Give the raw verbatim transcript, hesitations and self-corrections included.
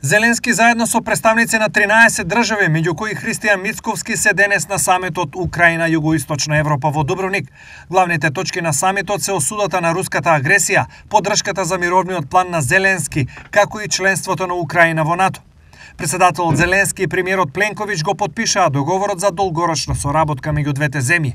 Зеленски заедно со представници на тринаесет држави, меѓу кои Христијан Мицковски, се денес на самитот Украина Југоисточна Европа во Дубровник. Главните точки на самитот се осудата на руската агресија, поддршката за мировниот план на Зеленски, како и членството на Украина во НАТО. Председателот Зеленски и премиерот Пленковиќ го потпишаа договорот за долгорочна соработка меѓу двете земји.